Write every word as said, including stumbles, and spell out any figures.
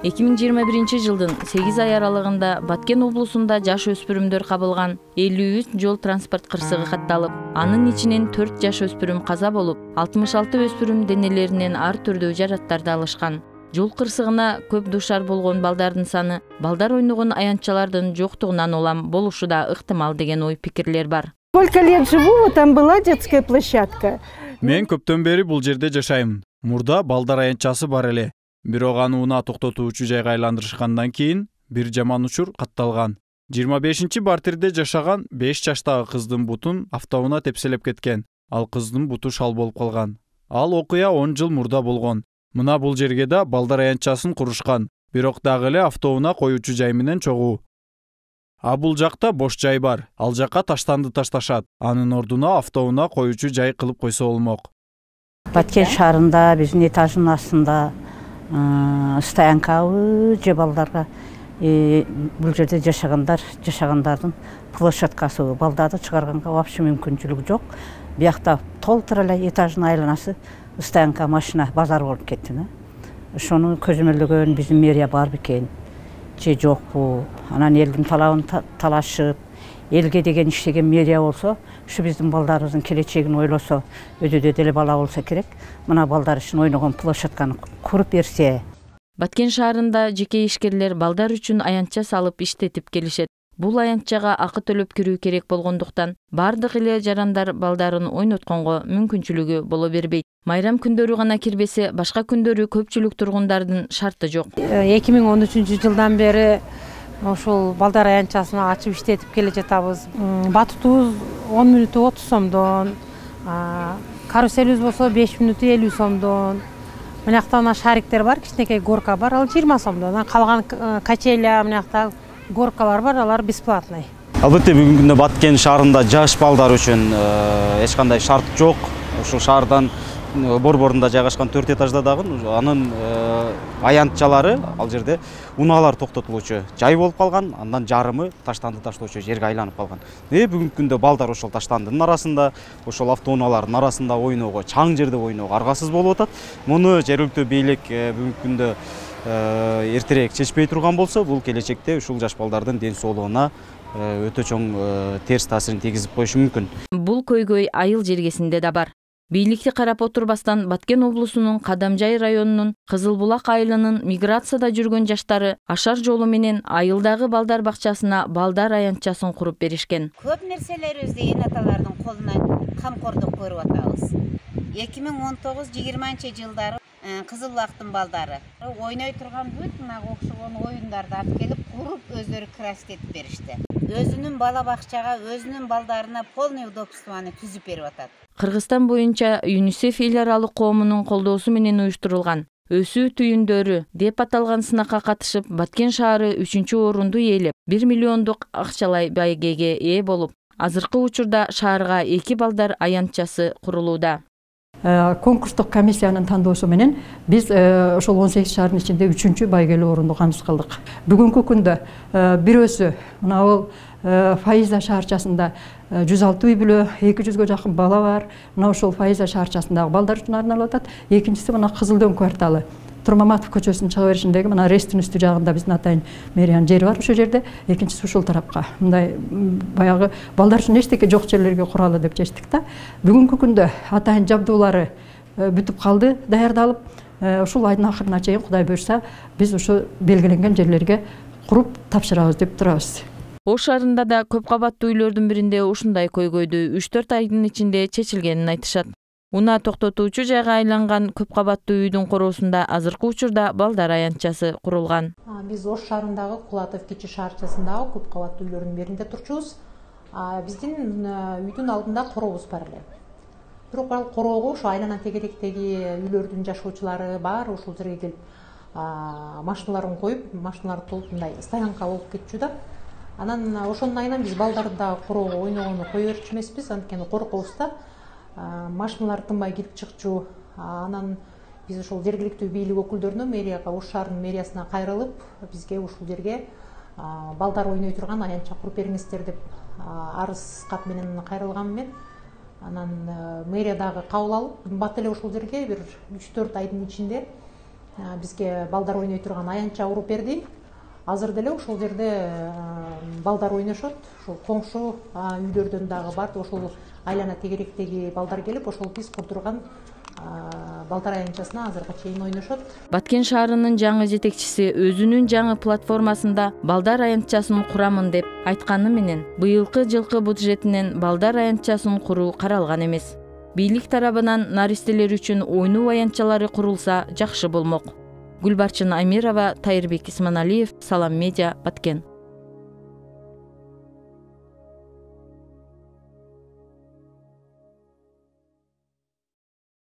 эки миң жыйырма биринчи жылдын сегиз ай аралыгында Баткен облусунда жаш өспүрүмдөр кабылган элүү үч жол транспорт кырсыгы катталып, анын ичинен төрт жаш өспүрүм каза болуп, алтымыш алты өспүрүм денелеринен ар түрдүү жараттарды алышкан. Жол кырсыгына көп дуушар болгон балдардын саны балдар ойногон аянтчалардын жоктугунан улам болушу да ыктымал деген ой пикирлер бар. Сколько лет живу, там была детская площадка. Мен көптөн бери бул жерде жашайм. Мурда балдар аянтчасы бар эле. Бирок аны унаа токтотуучу жайга айландырышкандан кийин бир жаман учур катталган. жыйырма бешинчи бартирде жашаган беш жаштагы кыздын бутун автоунаа тепселеп кеткен. Ал кыздын буту шал болуп калган. Ал окуя он жыл мурда болгон. Мына бул жерге да балдар аянтчасын курушкан. Бирок дагы эле автоунаа коюучу жай менен чогуу. А бул жакта бош жай бар. Ал жакка таштанды ташташат. Анын ордуна автоунаа коюучу жай кылып койсо болмок. Баткен шаарында биздин этаждын астында стоянкабы же балдарга бул жерде жашагандар, жашагандардын площадкасы балдарды чыгарганга вообще мүмкүнчүлүгү жок. Биякта толтура эле этаждын айланасы стоянка машина базар болуп кетти. Ошону көзөмөлдөгөн биздин мэрия бар бекен же жокпу? Анан элдин талабын талашып, элге деген иштеген мэрия болсо, ушу биздин балдарыбыздын келечегин ойлосо, өйдө деле бала болсо керек. Мына балдар үчүн ойногон площадканы куруп берсе. Баткен шаарында жеке ишкерлер балдар үчүн аянтча салып иштетип келишет. Бул аянтчага акы төлөп кирүү керек болгондуктан бардык эле жарандар балдарын ойнотконго мүмкүнчүлүгү боло бербейт. Майрам күндөрү гана кирбесе, башка күндөрү көпчүлүк тургундардын шарты жок. эки миң он үчүнчү жылдан бери ошол балдар аянтчасын ачып иштетип келе жатабыз. Батутубуз он мүнөтү отуз сомдон, каруселибиз болсо беш мүнөтү элүү сомдон. Мынакта мына шариктер бар, кичинекей горка бар, ал жыйырма сомдон. Калган качеля мынакта горкалар бар, алар бесплатный. Албетте бүгүнкү күндө Баткен шаарында жаш балдар үчүн эч кандай шарт жок. Ушул шаардан борборунда жайгашкан төрт этажда дагы анын аянтчалары ал жерде унаалар токтотулуучу жай болуп калган, андан жарымы таштанды таштоочу жерге айланып калган. Э бүгүнкү күндө балдар ошол таштандынын арасында, ошол автоунаалардын арасында ойноого, чаң жерде ойноого аргасыз болуп атат. Муну жергиликтүү бийлик бүгүнкү күндө эртерээк чечпей турган болсо, бул келечекте ушул жаш балдардын ден соолугуна өтө чоң терс таасирин тийгизип коюшу мүмкүн. Бул көйгөй айыл жергесинде да бар. Бийликти карап отурбастан Баткен облусунун Кадамжай районунун Кызылбулак айылынын миграцияда жүргөн жаштары ашар жолу менен айылдагы балдар бакчасына балдар аянтчасын куруп беришкен. Көп нерселерибизди эне аталардын колунан камкордук көрүп атабыз. эки миң он тогуз жыйырманчы жылдары Кызылбулактын балдары ойной турган бүт мына окшогон оюндарды алып келип куруп өздөрү красить этип беришти. Өзүнүн бала бакчага, өзүнүн балдарына полный удобствону түзүп берип атат. Кыргызстан боюнча ЮНИСЕФ эл аралык коомунун колдоосу менен уюштурулган өсүү түйүндөрү деп аталган сынакка катышып, Баткен шаары үчүнчү орунду ээлеп, бир миллиондук акчалай байгеге ээ болуп, азыркы учурда шаарга эки балдар аянтчасы курулууда. Конкурстук комиссиянын тандоосу менен биз ошол он сегиз шаардын ичинде үчүнчү байгелүү орунду камсыз кылдык. Бүгүнкү күндө бирөөсү мына бул Фаиза шаарчасында жүз алты үй бүлө, эки жүзгө жакын бала бар. Мына ошол Фаиза шаарчасындагы балдар үчүн арналып атат. Экинчиси мына Кызылдөң кварталы. Турмаматов көчөсүнүн чыга беришиндеги мына Ресттин үстү жагында биздин атайын мэриянын жери бар ошол жерде, экинчиси ушул тарапка. Мындай баягы балдар үчүн эчтеке жок жерлерге куралы деп чечтик да. Бүгүнкү күндө атайын жабдуулары бүтүп калды, даярдалып, ушул айдын акырына чейин Кудай буйрса, биз ушу белгиленген жерлерге куруп тапшырабыз деп турабыз. Ош шаарында да көп кабаттуу үйлөрдүн биринде ушундай көйгөйдү үч төрт айдын ичинде чечилгенин айтышат. Унаа токтотуучу жайга айланган көп кабаттуу үйдүн короосунда азыркы учурда балдар аянтчасы курулган. Биз Ош шаарындагы Кулатов кичи шаарчасындагы көп кабаттуу үйлөрдүн биринде турчубуз. Биздин үйдүн алдында корообуз бар эле. Бирок ал короого ошо айлана тегеректеги үйлөрдүн жашоочулары бар, ошол жерге келип машиналарын коюп, машиналарды толуп мындай стоянка болуп кетчү да. Анан ошонун айынан биз балдарды да короого ойногону кое берчү эмеспиз, анткени коркобуз да. Машиналар тынбай кирип чыкчу. Анан биз ошол жергиликтүү бийлик өкүлдөрүнө, мэрияга, Ош шаарынын мэриясына кайрылып, бизге ушул жерге балдар ойной турган аянтча куруп бериңиздер деп арыз кат менен кайрылгам мен. Анан мэрия дагы кабыл алып, бат эле ошол жерге бир үч төрт айдын ичинде бизге балдар ойной турган аянтча уруп берди. Азыр деле ошол жерде балдар ойношот. Ошол коңшу үйлөрдөн дагы бар. Ошол айлана тегеректеги балдар келип, ошол биз курдурган балдар аянтчасына азыркы чейин ойношот. Баткен шаарынын жаңы жетекчиси өзүнүн жаңы платформасында балдар аянтчасын курамын деп айтканы менен, быйылкы жылкы бюджетинен балдар аянтчасын куруу каралган эмес. Бийлик тарабынан наристелер үчүн ойноо аянтчалары курулса жакшы болмок. Гүлбарчын Амирова, Тайырбек Исманалиев, Салам Медиа, Баткен.